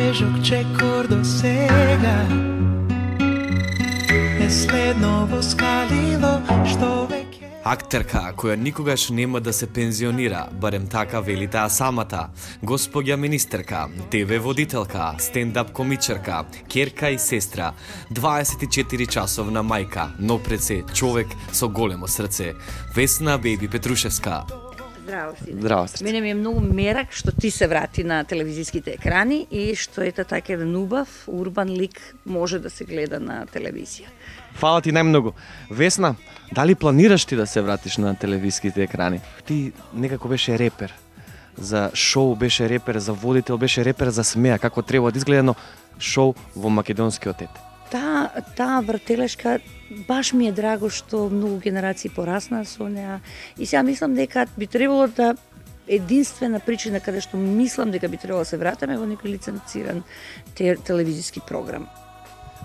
тежок чекор до сега е следно воскалило што веќе. Актерка која никогаш нема да се пензионира, барем така вели таа самата. Господја министерка, ТВ водителка, стендап комичарка, ќерка и сестра, 24 часовна мајка, но пред се човек со големо срце. Весна Бејби Петрушевска. Здраво си. Здраво си. Мене ми е многу мерак што ти се врати на телевизиските екрани и што ете така еден убав, урбан лик може да се гледа на телевизија. Фала ти најмногу. Весна, дали планираш ти да се вратиш на телевизиските екрани? Ти некако беше репер. За шоу беше репер, за водител беше репер, за смеа, како треба да изгледа едно шоу во македонскиот ет. Таа вртелешка баш ми е драго што многу генерации пораснаа со неа и сега мислам дека би требало да единствена причина каде што мислам дека би требало да се вратиме во некој лиценциран телевизиски програм.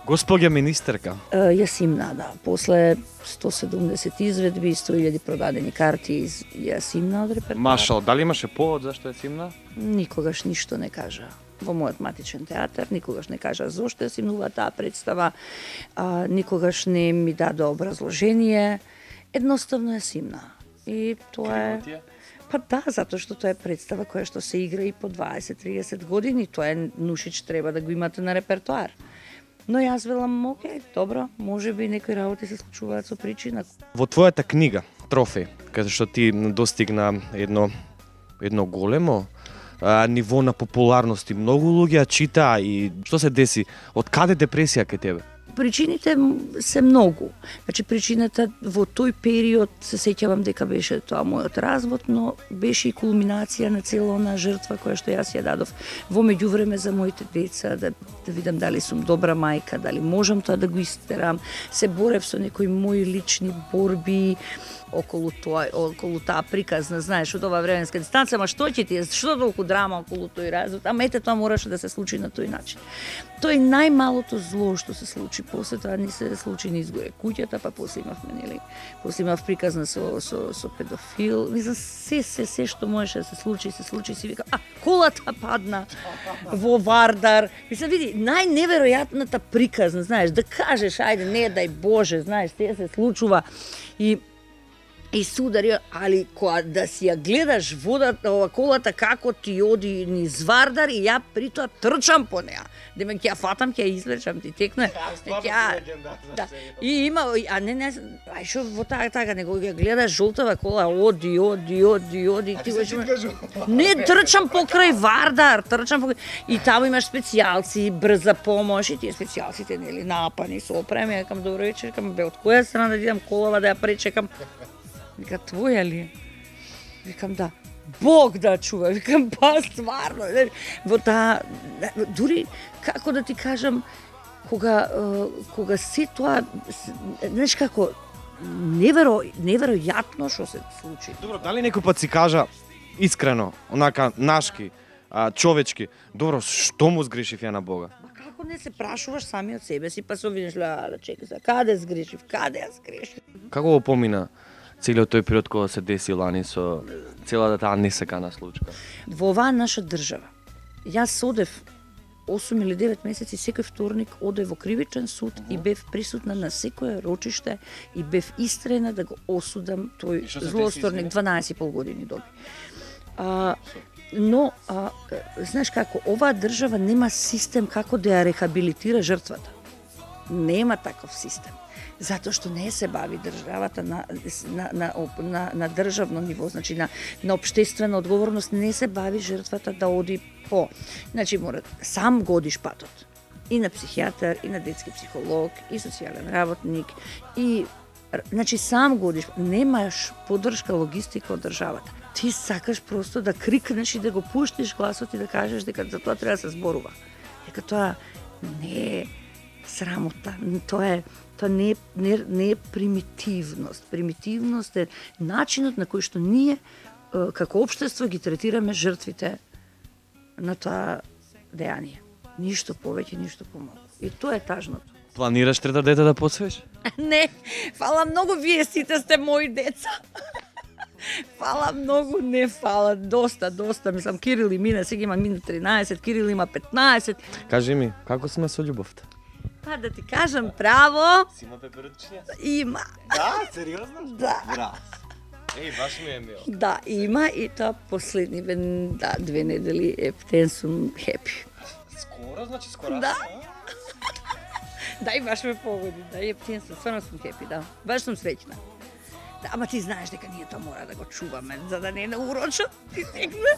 Господја министерка. Јас им нада. После 170 изведби, 100.000 продадени карти, јас им од репертоар. Машал, дали имаше повод зашто е симна? Никогаш ништо не кажа. Во мојот матичен театар никогаш не кажа зошто ја симнува таа представа, никогаш не ми даде образложение. Едноставно ја симна. И тоа е... Па да, затоа што тоа е представа која што се игра и по 20-30 години. Тоа е Нушич треба да го имате на репертоар. Но јас велам, окей, добро, може би некои работи се случуваат со причина. Во твојата книга, Трофеј, каде што ти достигна едно големо ниво на популарност и многу луѓе читаа и што се деси? Од каде депресија кај тебе? Причините се многу. Значи причината во тој период се сеќавам дека беше тоа мојот развод, но беше и кулминација на цела она жртва која што јас ја дадов во меѓувреме за моите деца, да видам дали сум добра мајка, дали можам тоа да го истерам. Се борев со некои мои лични борби околу таа приказна, знаеш, од ова временска дистанца, ама што ќе ти е, што толку драма околу тој развод, ама ете тоа мораше да се случи на тој начин. Тоа е најмалото зло што се случи, после тоа ни се случи ни изгоре куќата, па после имавме, нели, после имав приказна со педофил, мислам, се што можеше да се случи, си вика, колата падна во Вардар, мислам, види, најневеројатната приказна, знаеш, да кажеш, ајде, не дај Боже, знаеш, те се случува и судари, али кога да си ја гледаш водата, колата како ти оди низ Вардар и ја при тоа трчам по неа. Демек ќе ја фатам, ќе ја извлечам, ти текне. Да. И има, ај шо во така, него ја гледаш жолтава кола, оди, ти го не трчам покрај Вардар, и таму имаш специјалци, брза помош и тие специјалците нели напани со опрема, јакам добро вечер, кам бе од која страна да идам колава да ја пречекам. Вика, твоја ли? Викам, да. Бог да чува. Викам, па, стварно. Во таа, дури, како да ти кажам, кога се тоа, знаеш како, неверојатно што се случи. Добро, дали некој пат си кажа, искрено, онака, нашки, човечки, добро, што му сгрешив ја на Бога? Како не се прашуваш сами од себе си, па се обвиниш, чекай за каде сгрешив, каде ја сгрешив? Како го помина целиот тој период кога се деси лани со целата таа несекана случка? Во оваа наша држава, јас одев 8 или 9 месеци, секој вторник одев во кривичен суд и бев присутна на секое рочиште и бев истрена да го осудам тој злосторник, 12,5 години доби. Но, знаеш како, оваа држава нема систем како да ја рехабилитира жртвата. Нема таков систем. Затоа што не се бави државата на државно ниво, значи на општествена одговорност, не се бави жртвата да оди по. Значи мора сам годиш патот. И на психијатар, и на детски психолог, и социјален работник, и значи сам годиш, немаш поддршка логистика од државата. Ти сакаш просто да крикнеш и да го пуштиш гласот и да кажеш дека за тоа треба да се зборува. Дека тоа не е срамота, тоа не е примитивност. Примитивност е начинот на кој што ние како општество ги третираме жртвите на тоа дејание. Ништо повеќе, ништо помалку. И тоа е тажното. Планираш трето дете да посвеш? Не, фала многу, вие сите сте мои деца. фала многу, не фала, доста, мислам, Кирил и мина, сега има мина 13, Кирил има 15. Кажи ми, како сме со љубовта? Па да ти кажам право, Си има пеперутчиња? има. Да, сериозно? Да. Браво. Баш ми е мил. Да, има и тоа последни 2 недели ептен сум хепи. Скоро, значи скоро. Да. Да, и баш ме погоди, да, ептен сум, стварно сум хепи, да. Баш сум среќна. Да, ама ти знаеш дека ние тоа мора да го чуваме, за да не наурочат. Ти текна.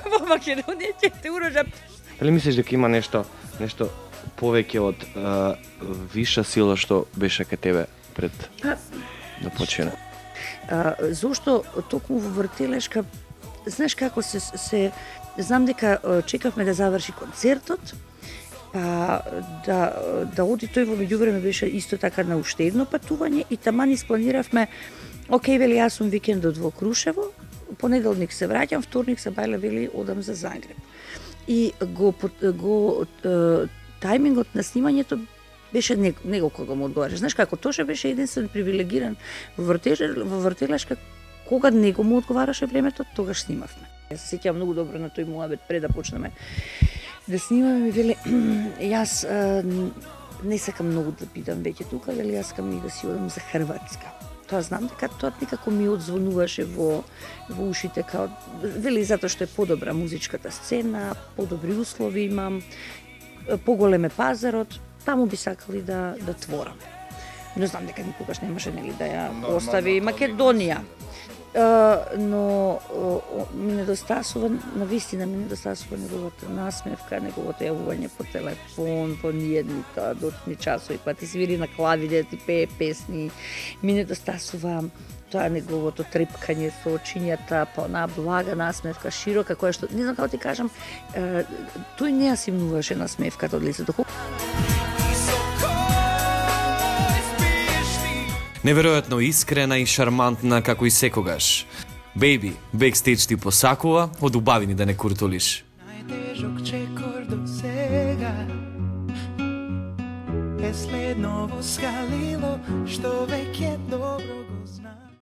Во Македонија ќе те урочат. Дали мислиш дека има нешто повеќе од виша сила што беше кај тебе пред да почине? Зошто токму во вртелешка, знаеш како се знам дека чекавме да заврши концертот, па да оди тој во меѓувреме беше исто така на уште едно патување и таман испланиравме, окей, вели, јас сум викендот во Крушево, понеделник се враќам, вторник се бајле, вели, одам за Загреб. И тајмингот на снимањето беше него кога му одговараш. Знаеш како, Тоше беше единствен привилегиран во вртелешка, кога него му одговараше времето, тогаш снимавме. Јас се сеќавам многу добро на тој муабет пред да почнеме да снимаме, ми веле, јас не сакам многу да бидам веќе тука, вели, јас сакам и да си одам за Хрватска. Тоа знам дека тоа некако ми одзвонуваше во ушите, као, вели, затоа што е подобра музичката сцена, подобри услови имам, поголем е пазарот, таму би сакали да твораме. Не знам дека никогаш немаше, нели, да ја остави Македонија. Но ми недостасува, навистина ми недостасува неговата насмевка, неговото јавување по телефон, по ниедните дотни часови, па ти свири на клавиде, ти пее песни. Ми недостасува тоа неговото трепкање со очињата, па онаа блага насмевка, широка, која што, не знам како ти кажам, тој не ја симнуваше насмевката од лицето. Неверојатно искрена и шармантна како и секогаш. Бејби, бекстејдж ти посакува, од убавини да не куртулиш. Најтежок чекор до сега е следно во скалило, што веќе добро го